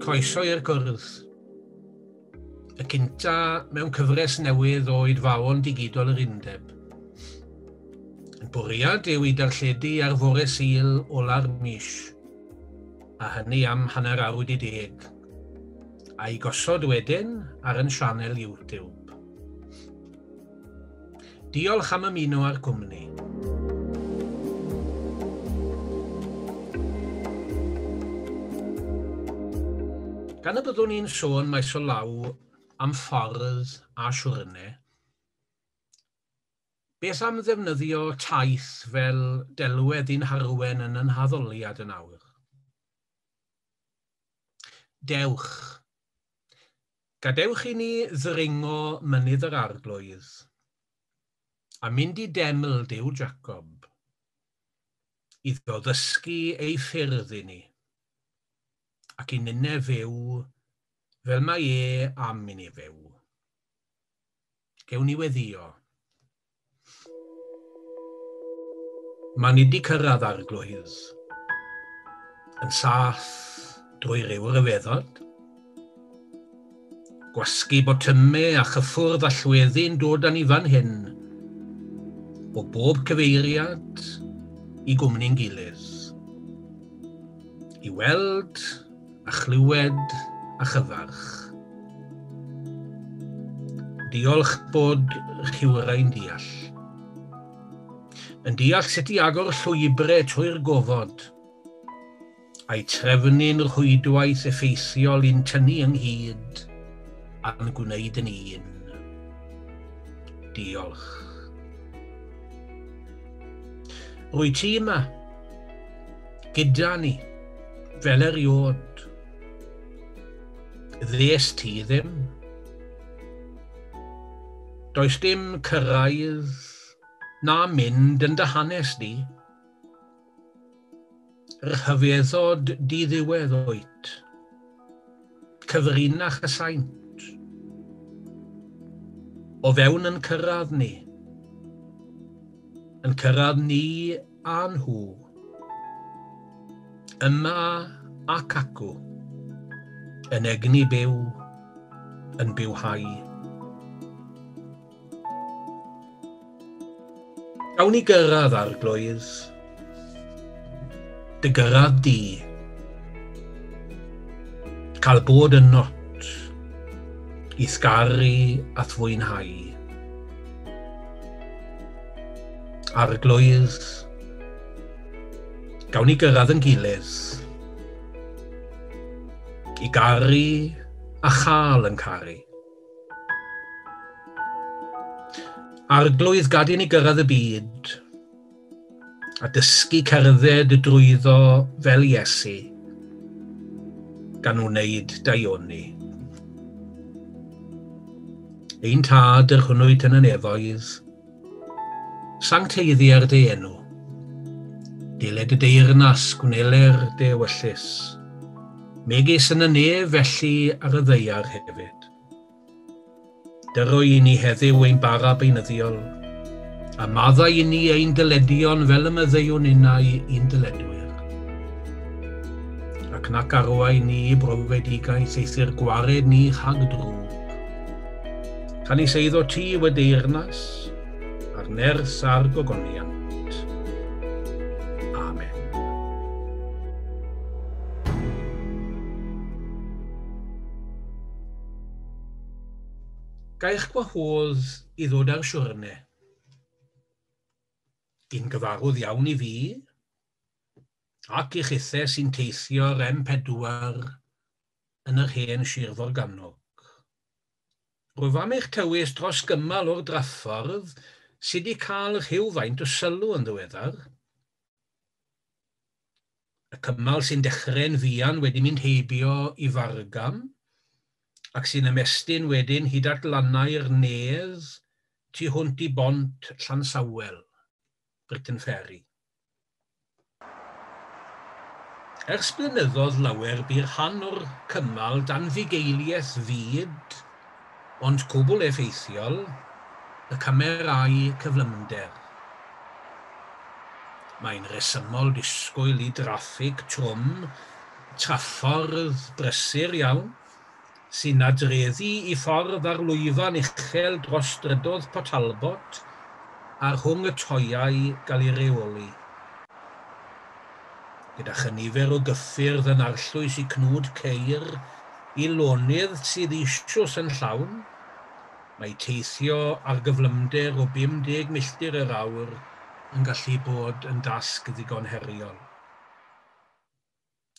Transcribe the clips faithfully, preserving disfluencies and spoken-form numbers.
Croeso i'r cwrdd. Y cynta mewn cyfres newydd o oedfaon digidol yr undeb. Yn bwriad yw i darlledu ar fore Sul ola'r mis, a hynny am hanner awr wedi deg, a'i gosod wedyn ar yn sianel YouTube. Diolch am ymuno â'r cwmni. Gan y byddwn ni'n sôn maes o law am ffordd a siwrne, beth am ddefnyddio taith fel delwedd i'n harwen yn yn haddoliad yn awr? Dewch. Gadewch i ni ddringo mynydd yr Arglwydd a mynd i deml Duw Jacob, iddo ddysgu ei ffyrdd i ni, ac i ninne fyw fel mae e am i ni fyw. Gewn ni weddio. Mae ni wedi cyrraedd Arglwydd, yn saff drwy ryw ryfeddod. Gwasgu botymau a chyffwrdd allweddi'n dod â ni fan hyn, o bob cyfeiriad i gwmni'n gilydd. I weld a chlywed a chyfarch. Diolch bod rhywrai'n deall. Yn deall sut i agor llwybrau trwy'r gofod, a'i trefnu'n rhwydwaith effeithiol i'n tynnu ynghyd a'n gwneud yn un. Diolch. Rwy ti yma, gyda ni, fel eriod. Ddes ti ddim. Does dim cyrraedd na mynd yn dy hanes di. Rhyfeddod diddiwedd wyt. Cyfrinach y saint. O fewn yn cyrraedd ni. Yn cyrraedd ni a nhw. Yma ac acw. Yn egni byw, yn bywhau. Gawn ni gyrraedd, Arglwydd. Dy gyrraedd di. Cael bod yn not, i sgaru a thfwynhau. Arglwydd, gawn ni gyrraedd yn gilydd, i garu a chael yn caru. Arglwydd, gad i ni gyrraedd y byd, a dysgu cerdded drwyddo fel Iesu, gan wneud daioni. Ein tad yr hwnnwyt yn y nefoedd, sancteiddier dy enw, diled y deyrnas gwneler dy ewyllys, megis yn y nef felly ar y ddaear hefyd. Dyro i ni heddiw ein bara beunyddiol, a maddau i ni ein dyledion fel y maddeuwn innau i'n dyledwyr. Ac nac arwain ni i brofedigaeth eithr gwared ni rhag drwg. Canys eiddo ti yw y deyrnas, a'r nerth a'r gogoniant. Amen. Gaich gwahodd i ddod ar siwrne. Un gyfarwydd iawn i fi, ac i chithau sy'n teithio'r M pedwar yn yr hen Sir Forgannwg. Rwyf am eich tywys dros gymal o'r draffordd sydd wedi cael rhywfaint o sylw yn ddiweddar. Y cymal sy'n dechrau'n fuan wedi mynd heibio i Fargam, ac sy'n ymestyn wedyn hyd at lannau'r Nedd tu hwnt i bont Llansawel, Britain Ferry. Ers blynyddoedd lawer bu'r rhan o'r cymal dan fugeiliaeth fyd, ond cwbl effeithiol, y camerâu cyflymder. Mae'n resymol disgwyl i draffig trwm traffordd brysur iawn, sy'n nadreddu i ffordd ar lwyfan uchel dros strydoedd Port Talbot a rhwng y toiau gael ei reoli. Gyda chynifer o gyffyrdd yn arllwys i cnwd ceir i lonydd sydd eisoes yn llawn, mae teithio ar gyflymder o bum deg milltir yr awr yn gallu bod yn dasg ddigon heriol.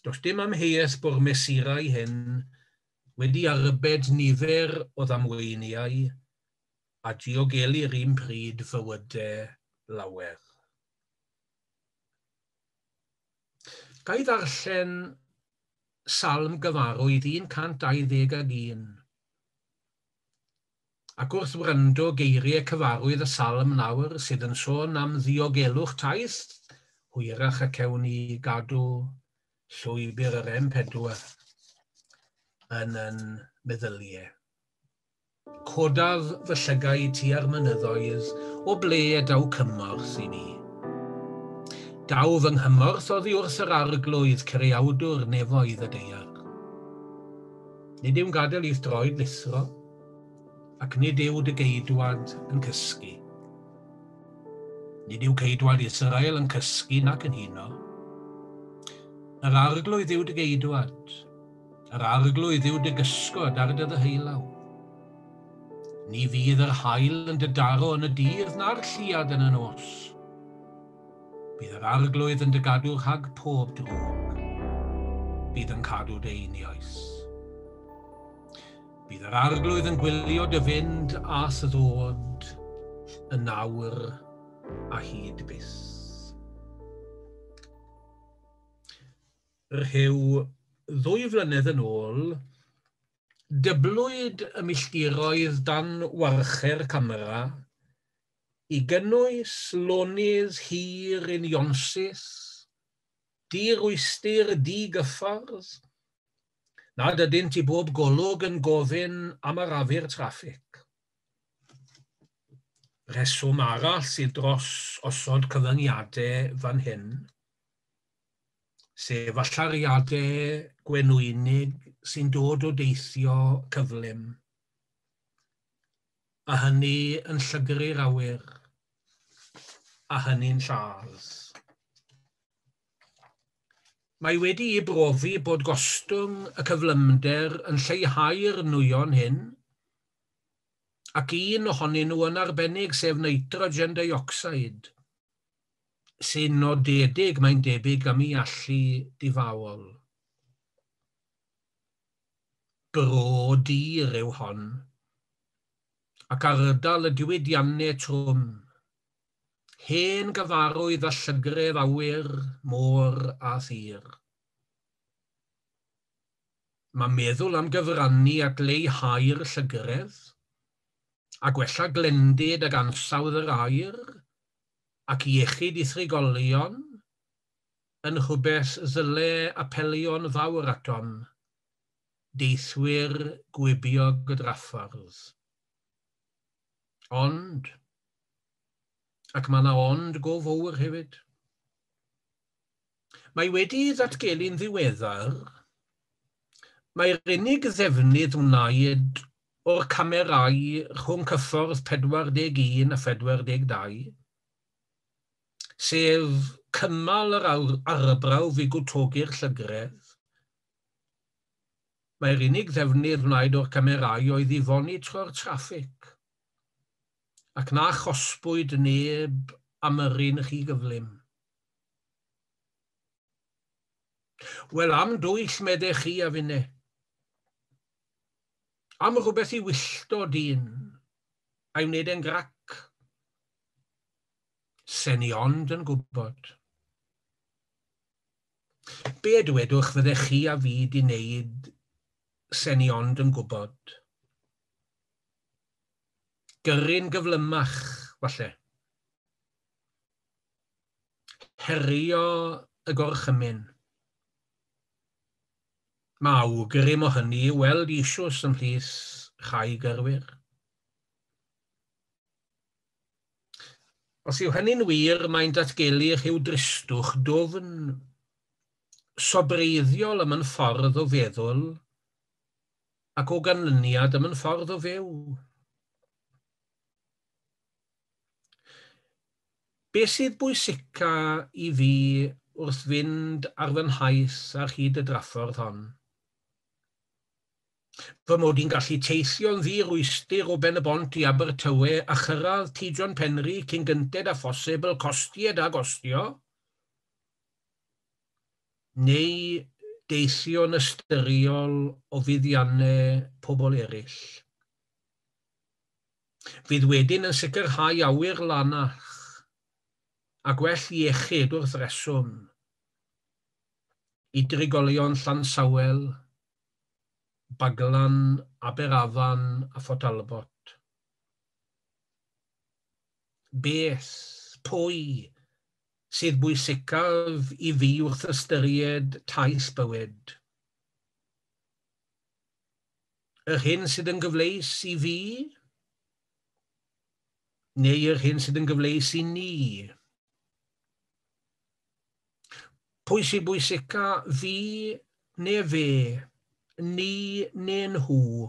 Does dim amheuaeth bod mesurau hyn wedi arbed nifer o ddamweiniau a diogelu'r un pryd fywydau lawer. Ga i ddarllen Salm gyfarwydd un cant dau ddeg ag un. Ac wrth wrando geiriau cyfarwydd y salm nawr sydd yn sôn am ddiogelwch taith, hwyrach y cewn ni gadw llwybr yr M pedwar yn yn meddyliau. Codaf fy llygaid tua'r mynyddoedd, o ble y daw cymorth i mi. Daw fy nghymorth oddi wrth yr Arglwydd, creawdwr nefoedd y daear. Nid yw'n gadael i'th droed lithro, ac nid yw dy geidwad yn cysgu. Nid yw ceidwad Israel yn cysgu nac yn huno. Yr Arglwydd yw dy geidwad, yr Arglwydd yw dy gysgod ar dy ddeheulaw. Ni fydd yr haul yn dy daro yn y dydd na'r lleuad yn y nos. Bydd yr Arglwydd yn dy gadw rhag pob drwg. Bydd yn cadw dy einioes. Bydd yr Arglwydd yn gwylio dy fynd a ddod yn awr a hyd byth. Rhyw ddwy flynedd yn ôl, dyblwyd y milltiroedd dan warcher camera i gynnwys lonydd hir unionsyth, dirwystir digyffordd, nad ydynt i bob golwg yn gofyn am arafu'r traffig. Rheswm arall sydd dros osod cyfyngiadau fan hyn, sef allyriadau gwenwynig sy'n dod o deithio cyflym, a hynny yn llygru'r awyr, a hynny'n lladd. Mae wedi'i brofi bod gostwng y cyflymder yn lleihau'r nwyon hyn, ac un ohonyn nhw yn arbennig, sef nitrogen dioxide, sy'n nodedig, mae'n debyg, am ei allu difaol. Bro dir yw hon, ac ardal y diwydiannau trwm, hen gyfarwydd a llygredd awyr, môr a thir. Mae meddwl am gyfrannu at leihau'r llygredd, a gwella glendid ag ansawdd yr aer, ac iechyd i thrigolion, yn rhywbeth ddyle apelio'n fawr atom, deithwyr gwibiog y draffordd. Ond, ac mae yna ond go fawr hefyd. Mae wedi ddatgelu'n ddiweddar, mae'r unig ddefnydd wnaed o'r camerâu rhwng cyffordd pedwar deg un a phedwar deg dau, sef cymal yr arbrawf i gwtogi'r llygredd. Mae'r unig ddefnydd wnaed o'r camerâu oedd i fonitro'r traffig, ac na chosbwyd neb am yrru'n rhy gyflym. Wel, am dwyll meddech chi a finne. Am rhywbeth i wyllto dyn, a'i wneud e'n grac. Sen i ond yn gwybod. Be dwedwch fyddech chi a fi di wneud sen i ond yn gwybod? Gyrru'n gyflymach, falle. Herio y gorchymyn. Mae awgrym o hynny i weld eisoes ymhlith rhai gyrwyr. Os yw hynny'n wir, mae'n datgelu rhyw dristwch dwfn sobreiddiol am yn ffordd o feddwl ac o ganlyniad am yn ffordd o fyw. Be sydd bwysica i fi wrth fynd ar fy nhaith ar hyd y draffordd hon? Fy mod i'n gallu teithio'n ddi-rwystr o Ben y Bont i Abertawe a chyrraedd Tŷ John Penri cyn gynted â phosibl, costied a gostio? Neu deithio'n ystyriol o fuddiannau pobl eraill? Fydd wedyn yn sicrhau awyr lanach a gwell iechyd wrth reswm i drigolion Llansawel, Baglan, Aberafan a Phort Talbot. Beth, pwy sydd bwysicaf i fi wrth ystyried taith bywyd? Yr hyn sydd yn gyfleus i fi, neu yr hyn sydd yn gyfleus i ni? Pwy sydd bwysica, fi neu fe, ni neu nhw?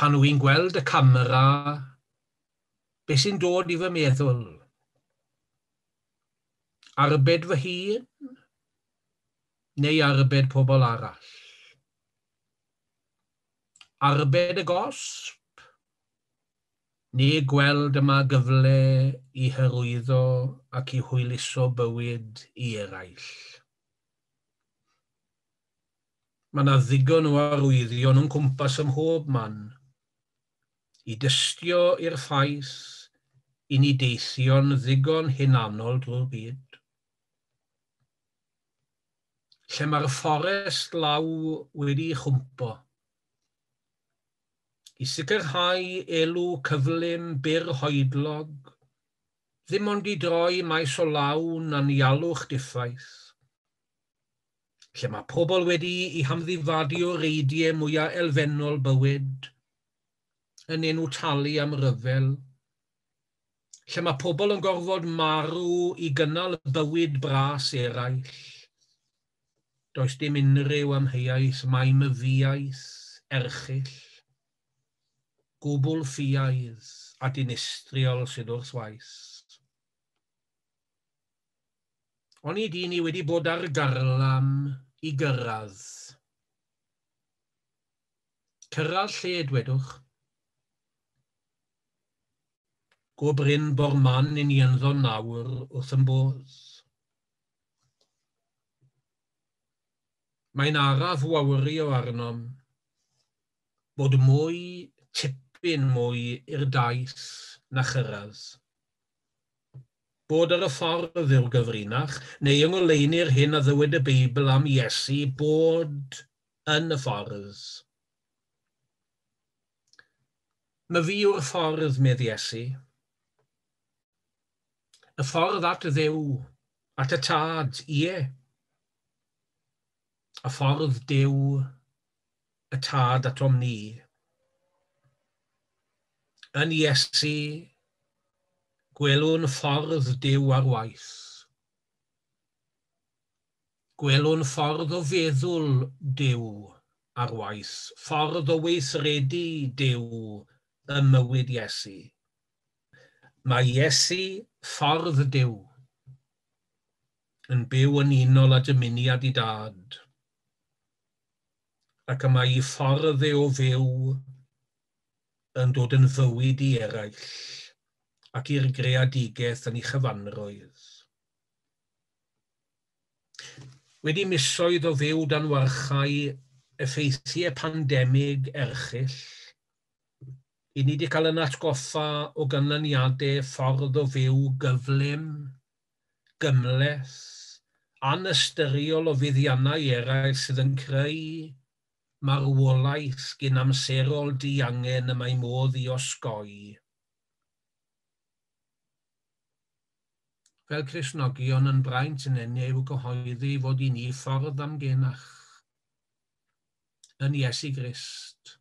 Pan wy'n gweld y camera, be sy'n dod i fy meddwl? Arbed fy hun, neu arbed pobl arall? Arbed y gosb, neu gweld yma gyfle i hyrwyddo ac i hwyluso bywyd i eraill? Mae yna ddigon o arwyddion o'n cwmpas ym mhob man i dystio i'r ffaith i ni deithio'n ddigon hunanol drwy'r byd. Lle mae'r fforest law wedi'i chwmpo, i sicrhau elw cyflym byr hoedlog, ddim ond i droi maes o law anialwch diffaith. Lle mae pobl wedi i hamddifadu o reidiau mwyaf elfennol bywyd, yn enw talu am ryfel. Lle mae pobl yn gorfod marw i gynnal bywyd bras eraill. Does dim unrhyw amheuaeth mai myfiaeth erchyll, gwbl ffiaidd a dinistriol sydd wrth waith. Onid i ni wedi bod ar garlam i gyrraedd? Cyrraedd lle, dwedwch? Go brin bo'r man i ni ynddo nawr wrth yn bodd. Mae'n araf wawrio arnom bod mwy, tipyn mwy i'r daith na chyrraedd. Bod ar y ffordd yw'r gyfrinach, neu yng ngoleuni'r hyn a ddywed y Beibl am Iesu, bod yn y ffordd. My fi yw'r ffordd, medd Iesu. Y ffordd at Dduw, at y Tad, ie. Y ffordd Duw, y Tad atom ni. Yn Iesu, gwelwn ffordd Duw ar waith. Gwelwn ffordd o feddwl Duw ar waith, ffordd o weithredu Duw ym mywyd Iesu. Mae Iesu, ffordd Duw, yn byw yn unol â dymuniad i Dad, ac y mae ei ffordd e o fyw yn dod yn fywyd i eraill ac i'r greadigaeth yn ei chyfanrwydd. Wedi misoedd o fyw dan warchau effeithiau pandemig erchyll, i ni wedi cael yn atgoffa o ganlyniadau ffordd o fyw gyflym, gymhleth, anystyriol o fuddiannau eraill sydd yn creu marwolaeth gynamserol diangen y mae modd i osgoi. Fel Cristnogion yn braint yn enw i'w gyhoeddi fod i ni ffordd amgenach yn Iesu Grist,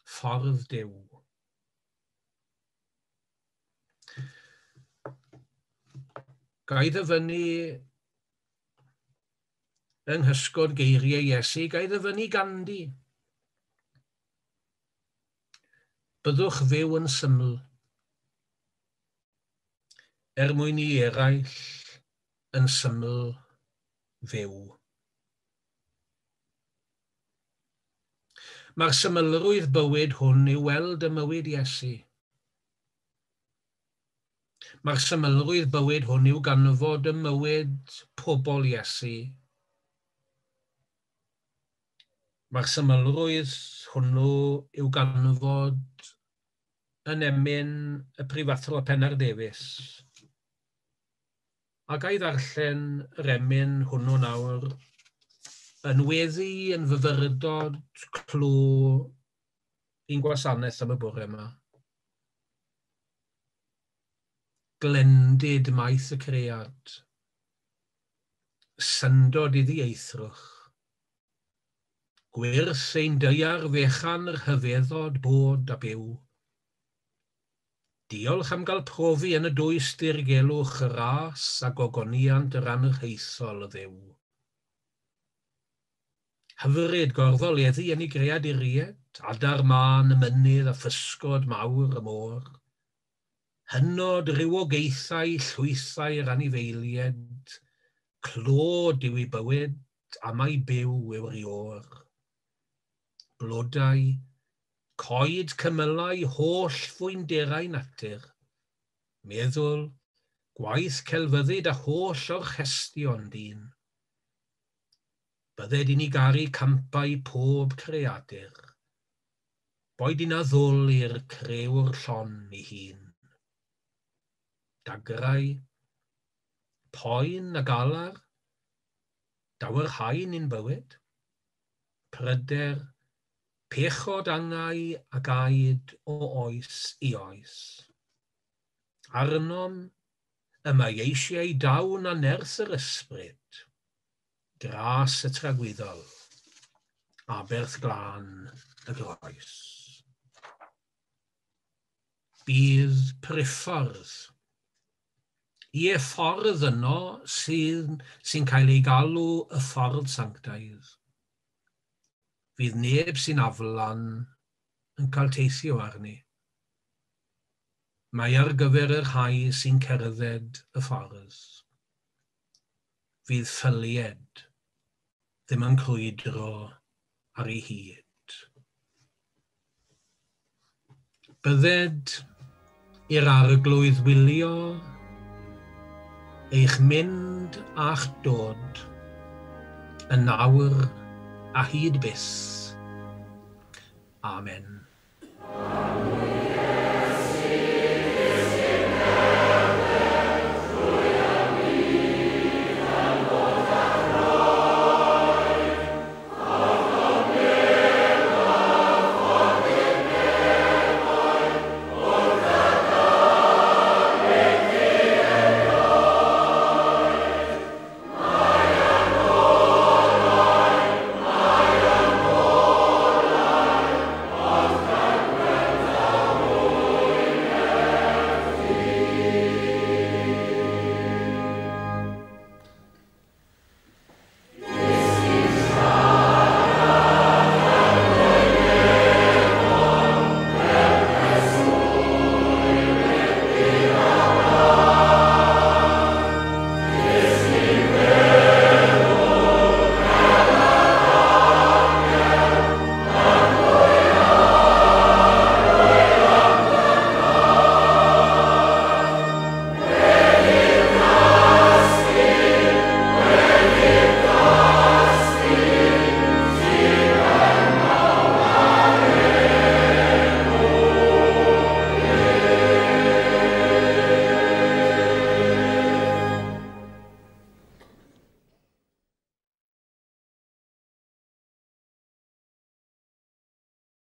ffordd Duw. Ga i ddyfynnu yng nghysgod geiriau Iesu, ga i ddyfynnu Gandhi. Byddwch fyw yn syml, er mwyn i eraill yn syml fyw. Mae'r symlrwydd bywyd hwn i'w weld ym mywyd Iesu. Mae'r symlrwydd bywyd hwn i'w ganfod ym mywyd pobl Iesu. Mae'r symlrwydd hwnnw i'w ganfod yn emyn y prifathro Pennar Davies. A ga i ddarllen yr emyn hwnnw nawr yn weddi, yn fyfyrdod clw i'n gwasanaeth am y bore yma. Glendid maith y cread, syndod iddi eithrwch, gwyrth ein daear fechan rhyfeddod bod a byw. Diolch am gael profi yn y dwys dirgelwch y ras a gogoniant yr anrhaethol y Dduw. Hyfryd gorfoleddu yn ei greaduriaid, adar mân y mynydd a physgod mawr y môr. Hynod rywogaethau llwythau'r anifeiliaid, clod yw ei bywyd a mai byw yw'r iôr. Blodau, coed cymylau holl fwynderau natur, meddwl, gwaith celfyddyd a holl orchestion dyn. Bydded i ni garu campau pob creadur, boed i'n addoli'r crëwr llon ei hun. Dagrau, poen a galar, daw'r haen i'n bywyd, pryder, pechod angau ac aed o oes i oes. Arnom y mae eisiau dawn a nerth yr ysbryd, gras y tragwyddol, aberth glân y groes. Bydd priffordd. Ie, ffordd yno sy'n sy'n cael ei galw y ffordd sanctaidd. Fydd neb sy'n aflan yn cael teithio arni. Mae ar gyfer y rhai sy'n cerdded y ffordd. Fydd ffylied ddim yn crwydro ar ei hyd. Bydded i'r Arglwydd wylio eich mynd a'ch dod yn awr a hyd byth. Amen. Amen.